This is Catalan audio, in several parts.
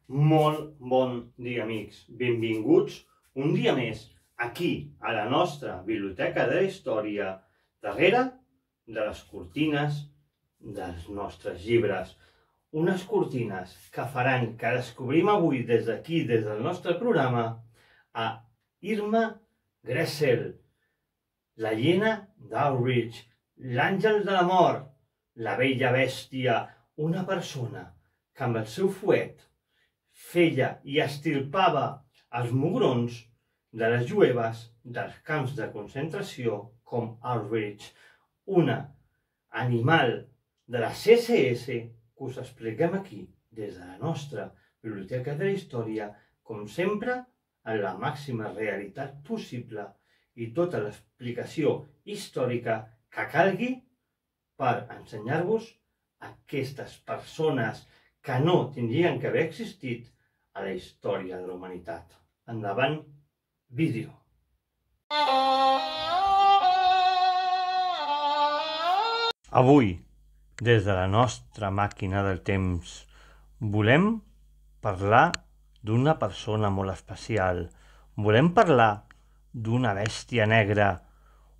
Molt bon dia, amics. Benvinguts un dia més aquí, a la nostra Biblioteca de la Història, darrere de les cortines dels nostres llibres. Unes cortines que faran que descobrim avui des d'aquí, des del nostre programa, a Irma Gressel, la hiena d'Auschwitz, l'àngel de la mort, la vella bèstia, una persona que amb el seu fuet feia i estirpava els mugrons de les jueves dels camps de concentració com Auschwitz, una animal de la CSS que us expliquem aquí des de la nostra Biblioteca de la Història, com sempre, en la màxima realitat possible i tota l'explicació històrica que calgui per ensenyar-vos aquestes persones que no tindrien que haver existit a la història de la humanitat. Endavant, vídeo. Avui, des de la nostra màquina del temps, volem parlar d'una persona molt especial. Volem parlar d'una bèstia negra.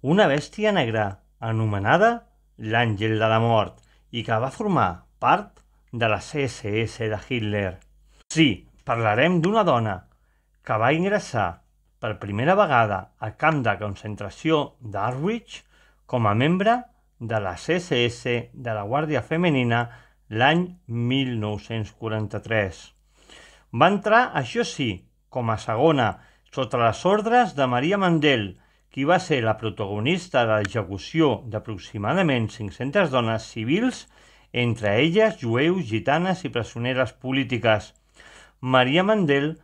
Una bèstia negra anomenada l'Àngel de la Mort i que va formar part de la CSS de Hitler. Sí, parlarem d'una dona que va ingressar per primera vegada al camp de concentració d'Auschwitz com a membre de la CSS de la Guàrdia Femenina l'any 1943. Va entrar, això sí, com a segona, sota les ordres de Maria Mandel, qui va ser la protagonista de l'execució d'aproximadament 500 dones civils, entre elles jueus, gitanes i presoneres polítiques. Maria Mandel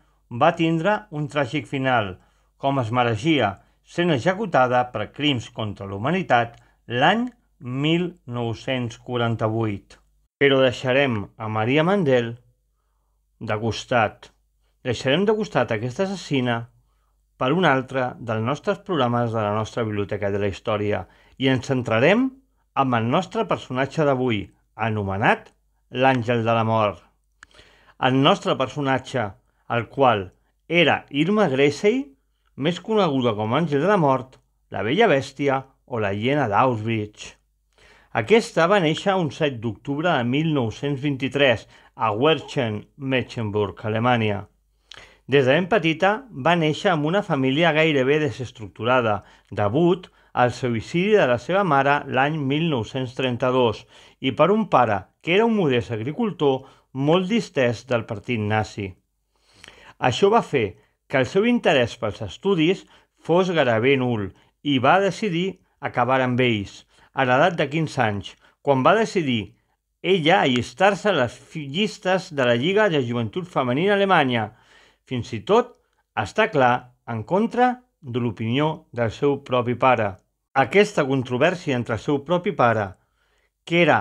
va tindre un tràgic final, com es mereixia, sent executada per crims contra la humanitat l'any 1948. Però deixarem a Maria Mandel de costat. Deixarem de costat aquesta assassina per un altre dels nostres programes de la nostra Biblioteca de la Història i ens centrarem amb el nostre personatge d'avui, anomenat l'Àngel de la Mort. El nostre personatge, el qual era Irma Gressel, més coneguda com Àngel de la Mort, la vella bèstia o la hiena d'Auschwitz. Aquesta va néixer un 7 d'octubre de 1923 a Werchen, Mecklenburg, Alemanya. Des de ben petita va néixer amb una família gairebé desestructurada, degut al suïcidi de la seva mare l'any 1932 i per un pare que era un modest agricultor molt distès del partit nazi. Això va fer que el seu interès pels estudis fos gairebé nul i va decidir acabar amb ells a l'edat de 15 anys, quan va decidir ella allistar-se a les llistes de la Lliga de Joventut Femenina Alemanya, fins i tot està clar en contra de l'opinió del seu propi pare. Aquesta controvèrsia entre el seu propi pare, que era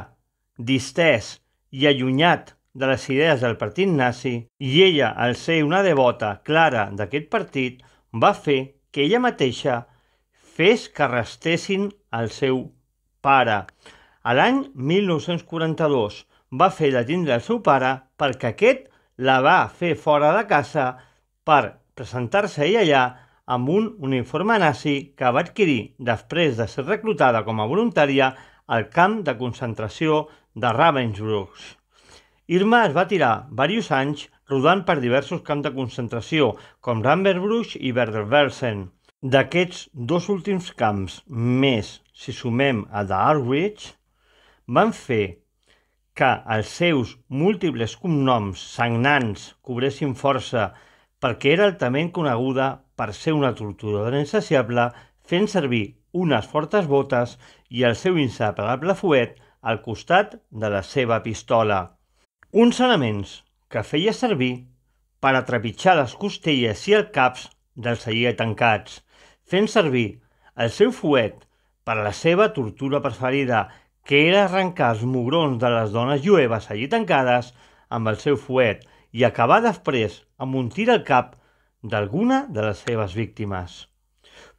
distès i allunyat de les idees del partit nazi, i ella, al ser una devota clara d'aquest partit, va fer que ella mateixa fes que arrestessin el seu pare. A l'any 1942 va fer detindre el seu pare perquè aquest la va fer fora de casa per presentar-se ella allà amb un uniforme nazi que va adquirir després de ser reclutada com a voluntària al camp de concentració de Ravensbrück. Irma es va tirar diversos anys rodant per diversos camps de concentració, com Ravensbrück i Bergen-Belsen. D'aquests dos últims camps, més si sumem a d'Auschwitz, van fer que els seus múltiples cognoms sagnants cobressin força perquè era altament coneguda per ser una torturadora insaciable, fent servir unes fortes botes i el seu inseparable fuet al costat de la seva pistola. Uns elements que feia servir per a trepitjar les costelles i els caps dels allí tancats, fent servir el seu fuet per a la seva tortura preferida, que era arrencar els mugrons de les dones jueves allí tancades amb el seu fuet i acabar després amb un tir al cap d'alguna de les seves víctimes.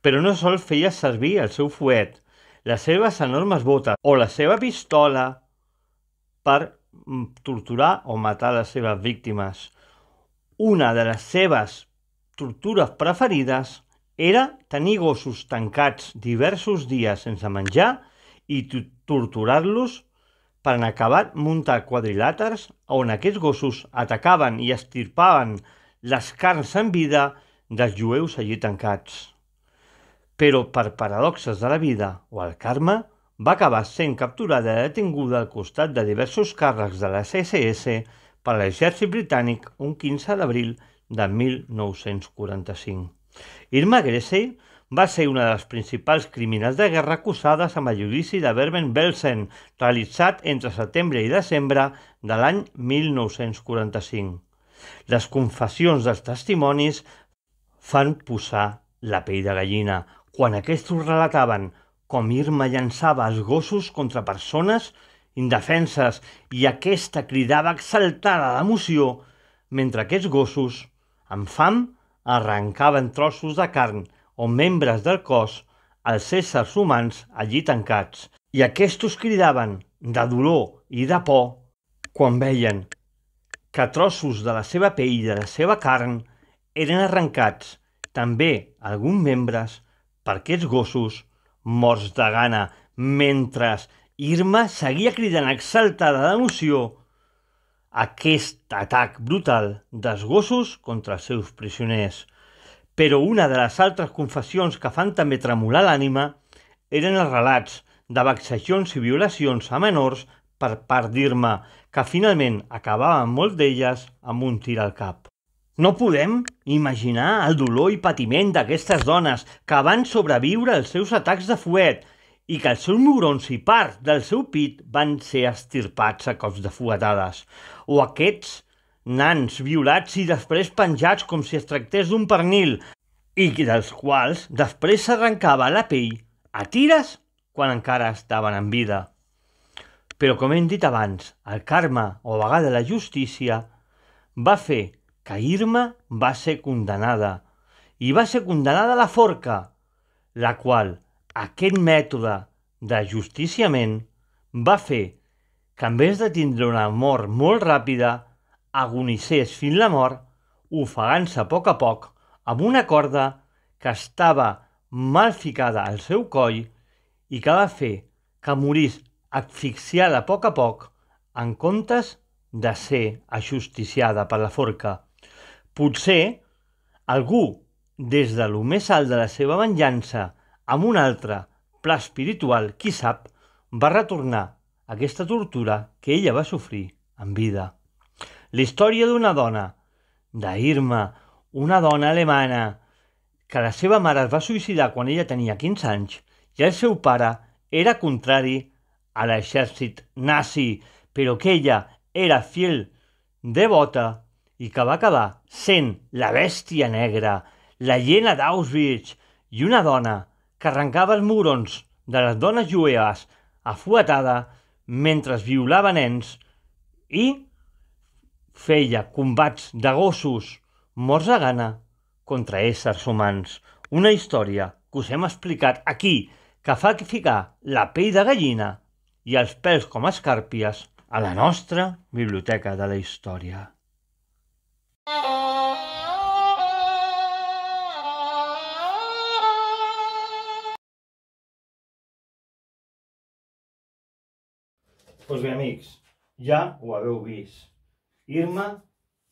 Però no sols feia servir el seu fuet, les seves enormes botes o la seva pistola per torturar o matar les seves víctimes. una de les seves tortures preferides era tenir gossos tancats diversos dies sense menjar i torturar-los per en acabat muntar quadrilàters on aquests gossos atacaven i estirpaven les carns en vida dels jueus allí tancats. Però per paradoxes de la vida o el karma, va acabar sent capturada i detinguda al costat de diversos càrrecs de les SS per l'exèrcit britànic un 15 d'abril de 1945. Irma Gressey va ser una de les principals criminals de guerra acusades amb el judici de Bergen-Belsen, realitzat entre setembre i desembre de l'any 1945. Les confessions dels testimonis fan posar la pell de gallina, quan aquests relataven com Irma llançava els gossos contra persones indefenses i aquesta cridava exaltada d'emoció mentre aquests gossos, amb fam, arrencaven trossos de carn o membres del cos als éssers humans allí tancats. I aquests cridaven de dolor i de por quan veien que trossos de la seva pell i de la seva carn eren arrencats, també alguns membres, per aquests gossos morts de gana, mentre Irma seguia cridant exaltada d'emoció aquest atac brutal dels gossos contra els seus prisioners. Però una de les altres confessions que fan també tremolar l'ànima eren els relats de vexacions i violacions a menors per part d'Irma, que finalment acabaven molt d'elles amb un tir al cap. No podem imaginar el dolor i patiment d'aquestes dones que van sobreviure als seus atacs de fuet i que els seus mugrons i part del seu pit van ser estirpats a cops de fuetades, o aquests nans violats i després penjats com si es tractés d'un pernil i dels quals després s'arrencava la pell a tires quan encara estaven en vida. Però com hem dit abans, el karma o a vegades la justícia va fer que Irma va ser condenada, i va ser condenada a la forca, la qual aquest mètode de justiciament va fer que en vez de tindre una mort molt ràpida, agonissés fins la mort, ofegant-se a poc amb una corda que estava mal ficada al seu coll i que va fer que morís asfixiada a poc en comptes de ser ajusticiada per la forca. Potser algú, des de lo més alt de la seva venjança, amb un altre pla espiritual, qui sap, va retornar aquesta tortura que ella va sofrir en vida. La història d'una dona, d'Irma, una dona alemana, que la seva mare es va suïcidar quan ella tenia 15 anys i el seu pare era contrari a l'exèrcit nazi, però que ella era fiel devota i que va acabar sent la bèstia negra, la hiena d'Auschwitz i una dona que arrencava els mugrons de les dones jueves afuetada mentre violava nens i feia combats de gossos morts a gana contra éssers humans. Una història que us hem explicat aquí, que fa ficar la pell de gallina i els pèls com escàrpies a la nostra biblioteca de la història. Doncs bé, amics, ja ho haveu vist. Irma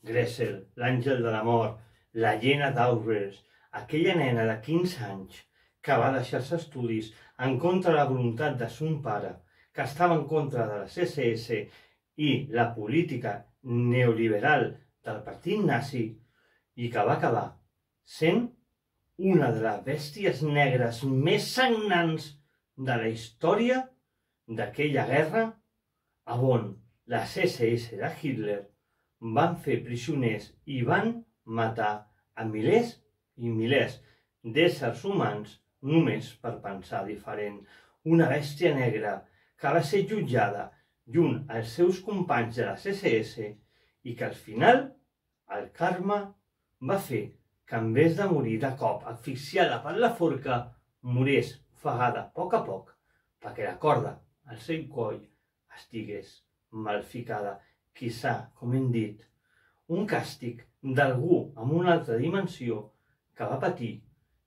Gressey, l'àngel de la mort, la hiena d'Auschwitz, aquella nena de 15 anys que va deixar els estudis en contra de la voluntat de son pare, que estava en contra de les SS i la política neoliberal del partit nazi i que va acabar sent una de les bèsties negres més sagnants de la història d'aquella guerra on les SS de Hitler van fer prisioners i van matar a milers i milers d'éssers humans només per pensar diferent. Una bèstia negra que va ser jutjada junt als seus companys de les SS i que al final el karma va fer que en vez de morir de cop asfixiada per la forca, morís ofegada a poc perquè la corda al seu coll estigués mal ficada. Quizà, com hem dit, un càstig d'algú amb una altra dimensió que va patir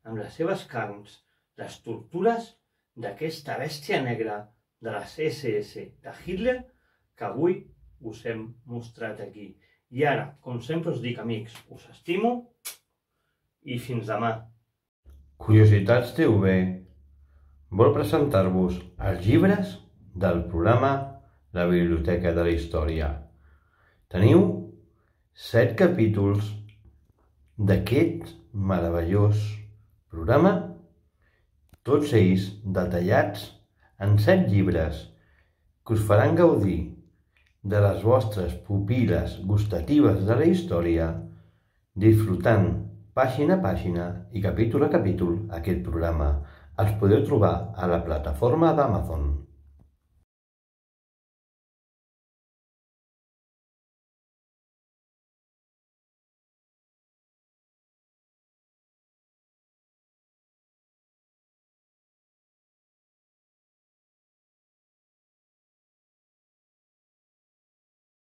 amb les seves carns les tortures d'aquesta bèstia negra de les SS de Hitler que avui us hem mostrat aquí. I ara, com sempre us dic, amics, us estimo i fins demà. Curiositats TV vol presentar-vos els llibres del programa La Biblioteca de la Història. Teniu 7 capítols d'aquest meravellós programa, tots ells detallats en 7 llibres que us faran gaudir de les vostres pupil·les gustatives de la història, disfrutant pàgina a pàgina i capítol a capítol aquest programa. Els podeu trobar a la plataforma d'Amazon.